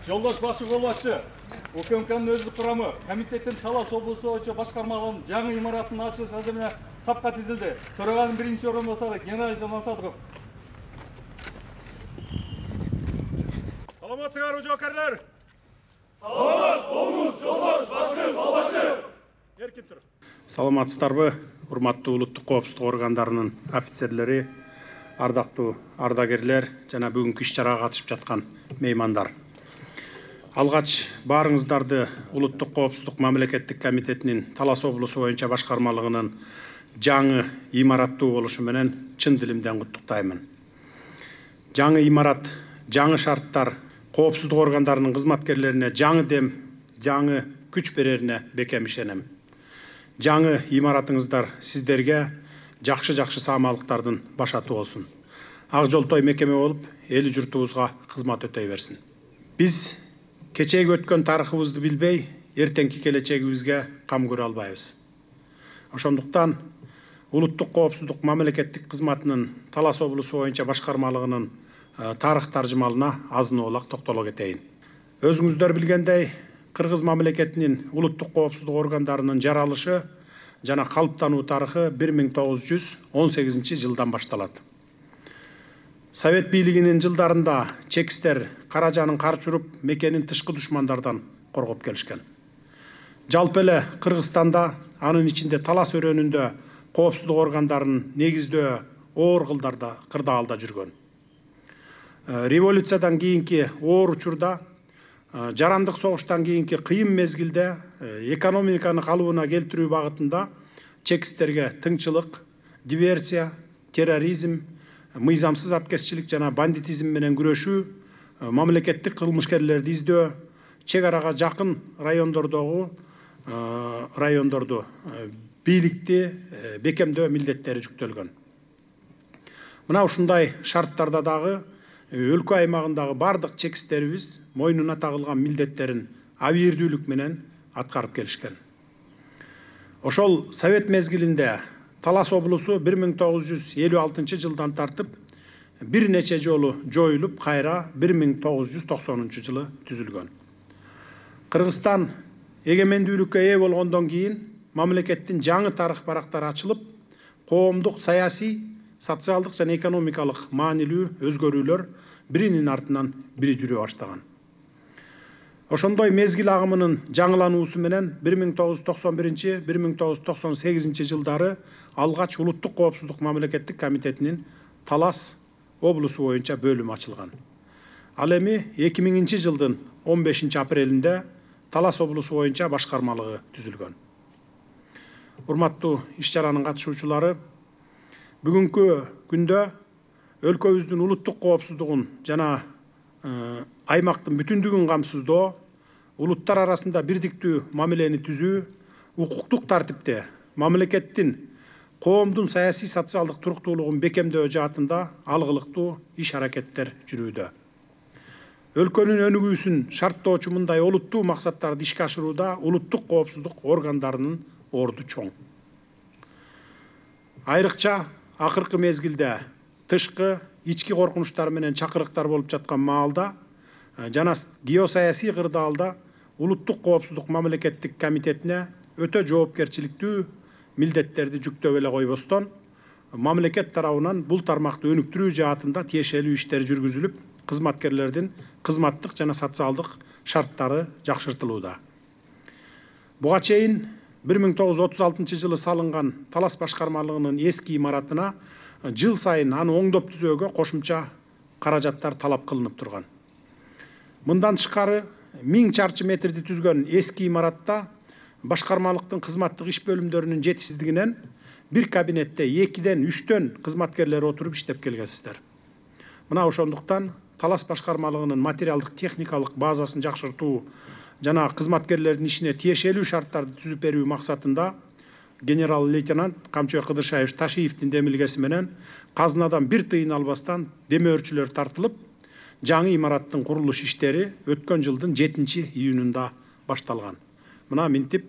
Жолдош башы колбашчы, УКМКнын өздүк курамы комитеттин Талас облусу боюнча башкармалыгынын жаңы имаратынын ачылыш азырына сапка тизилди. Төраганын биринчи орун басары Геннадий Масадыков. Саламатсыңарбы жоокерлер? Саламат болуңуз, жолдош башкы колбашчы. Эркин тур. Саламатсыздарбы, урматтуу улуттук коопсуздук органдарынын офицерлери, ардактуу ардагерлер жана бүгүнкү иш-чарага катышып жаткан меймандар. Алгач баарыңыздарды улуттук коопсуздук мамлекеттик комитетинин Талас облусу боюнча башкармалыгынын жаңы имараттуу болушу менен чын дилимден куттуктаймын. Жаңы имарат, жаңы шарттар коопсуздук органдарынын кызматкерлерине жаңы дем, жаңы күч берерине бекем ишенем. Жаңы имаратыңыздар сиздерге жакшы саамалыктардын башаты болсун. Ак жолтой мекеме болуп, эл журтубузга кызмат өтөй берсин. Биз кечеги өткөн тарыхыбызды билбей, эртеңки келечегибизге кам көрө албайбыз. Ошондуктан улуттук коопсуздук мамлекеттик кызматынын Талас облусу боюнча башкармалыгынын тарых таржымалына азын-оолак токтоло кетейин. Өзүңүздөр билгендей, Кыргыз мамлекетинин улуттук коопсуздук органдарынын жаралышы жана калыптануу тарыхы 1918 жылдан башталат. Совет бийлигинин жылдарында чекистер Каражанын карчы уруп, мекенин тышкы душмандардан коргоп келишкен. Жалпы эле Кыргызстанда, анын ичинде Талас өрөөнүндө коопсуздук органдарынын негиздөө оор кырдаалда жүргөн. Революциядан кийинки оор учурда, жарандык согуштан кийинки кыйын мезгилде экономиканы калыбына келтирүү багытында чекистерге тыңчылык, диверсия, терроризм, мыйзамсыз аткезчилик жана бандитизм менен күрөшүү, мамлекеттик кылмышкерлерди издөө, чек арага жакын райондорду бийликти бекемдөө милдеттери жүктөлгөн. Мына ушундай шарттарда дагы өлкө аймагындагы бардык чекистерибиз мойнуна тагылган милдеттерин абийирдүүлүк менен аткарып келишкен. Ошол Совет мезгилинде Талас облусу 1956 жылдан тартып бир нече жолу жоюлуп, кайра 1990 жылы түзүлгөн. Кыргызстан эгемендүүлүккө ээ болгондон кийин мамлекеттин жаңы тарых барактары ачылып, коомдук, саясий, социалдык жана экономикалык маанилүү өзгөрүүлөр биринин артынан бири жүрө баштаган. Ошондой мезгил агымынын жаңылануусу менен 1991-1998 жылдары алгач улуттук коопсуздук мамлекеттик комитетинин Талас облусу боюнча бөлүмү ачылган. Ал эми 2000 жылдын 15 апрелинде Талас облусу боюнча башкармалыгы түзүлгөн. Урматтуу иш-чаранын катышуучулары, бүгүнкү күндө өлкөбүздүн улуттук коопсуздугун жана аймактын бүтүндүгүн камсыздоо, улуттар арасында бирдиктүү мамилени түзүү, укуктук тартипте мамлекеттин коомдун саясий социалдык туруктуулугун бекемдөө жаатында алгылыктуу иш-аракеттер жүрүүдө. Өлкөнүн өнүгүүсүн шарттоочу мындай олуттуу максаттарды ишке ашырууда улуттук коопсуздук органдарынын орду чоң. Айрыкча акыркы мезгилде тышкы, ички коркунучтар менен чакырыктар болуп жаткан маалда жана геосаясий кырдаалда улуттук коопсуздук мамлекеттик комитетине өтө жоопкерчиликтүү милдеттерди жүктөп эле койбостон, мамлекет тарабынан бул тармакты өнүктүрүү жаатында тиешелүү иштер жүргүзүлүп, кызматкерлердин кызматтык жана социалдык шарттары жакшыртылууда. Буга чейин 1936 жылы салынган Талас башкармалыгынын эски имаратына жыл сайын аны оңдоп түзөөгө кошумча каражаттар талап кылынып турган. Мындан тышкары 1000 чарчы метрди түзгөн эски имаратта башкармалыктын кызматтык иш бөлүмдөрүнүн жетишсиздигинен бир кабинетте 2-ден 3-төн кызматкерлер отуруп иштеп келгенсиздер. Мына ошондуктан Талас башкармалыгынын материалдык техникалык базасын жакшыртуу жана кызматкерлердин ишине тиешелүү шарттарды түзүп берүү максатында генерал-лейтенант Камчыбек Кыдыршаевич Ташиевдин демилгеси менен казынадан бир тыйын албастан демөөрчүлөр тартылып, жаңы имараттын курулуш иштери өткөн жылдын 7-июнунда башталган. Мына минтип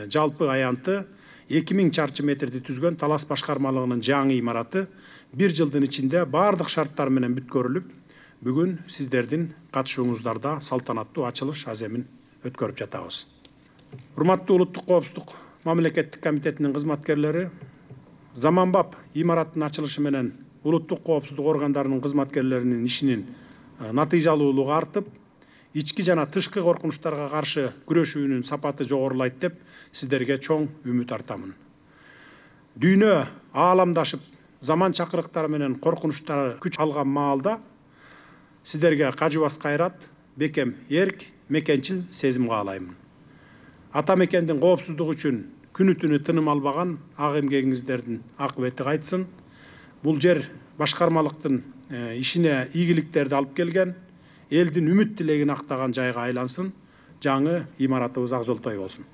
жалпы аянты 2000 чарчы метрди түзгөн Талас башкармалыгынын жаңы имараты 1 жылдын ичинде бардык шарттар менен бүткөрүлүп, бүгүн сиздердин катышууңуздарда салтанаттуу ачылыш аземин өткөрүп жатабыз. Урматтуу улуттук коопсуздук мамлекеттик комитетинин кызматкерлери, заманбап имараттын ачылышы менен улуттук коопсуздук органдарынын кызматкерлеринин ишинин натыйжалуулугу артып, ички жана тышкы коркунучтарга каршы күрөшүүнүн сапаты жогорулайт деп сиздерге чоң үмүт артамын. Дүйнө ааламдашып, заман чакырыктары менен коркунучтары күч алган маалда сиздерге кажыбас кайрат, бекем эрк, мекенчил сезим каалаймын. Ата мекендин коопсуздугу үчүн күнү түнү тыным албаган ак эмгегиңиздердин акыбети кайтсын. Бул жер башкармалыктын ишине ийгиликтерди алып келген, элдин үмүт тилегин актаган жайга айлансын. Жаңы имаратыбыз ак жолтой болсун.